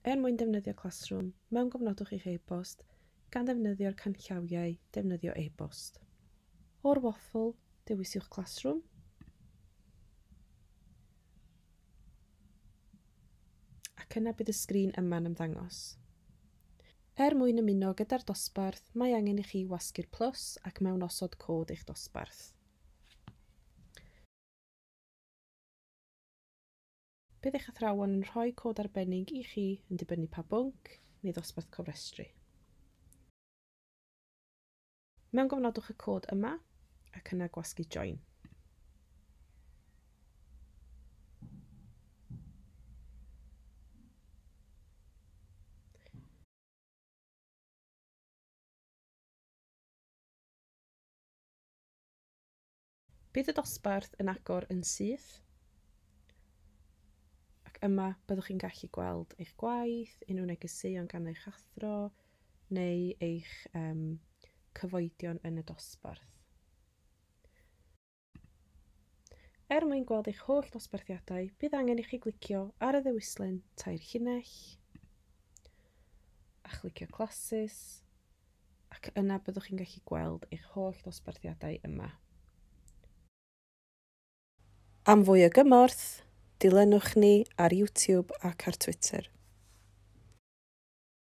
Er mwyn defnyddio Classroom, mewngofnodwch eich e-bost gan ddefnyddio'r canllawiau defnyddio e-bost. O'r waffle, dewisiwch Classroom. Ac yna bydd y sgrin yma'n ymddangos. Er mwyn ymuno gyda'r dosbarth, mae angen i chi wasgu'r plus ac mewnosod cod eich dosbarth. Bydd eich athrawon yn rhoi cod arbennig i chi yn dibynnu pa bwnc neu ddosbarth cofrestru. Mewngofnodwch y cod yma ac yna gwasgu Join. Bydd y dosbarth yn agor yn syth ac yma byddwch chi'n gallu gweld eich gwaith, unrhyw negeseuon gan eich athro neu eich cyfoedion yn y dosbarth. Er mwyn gweld eich holl dosbarthiadau, bydd angen i chi glicio ar y ddewislen tair llinell a chlicio Classes, ac yna byddwch chi'n gallu gweld eich holl ddosbarthiadau yma. Am fwy o gymorth, dilynwch ni ar YouTube ac ar Twitter.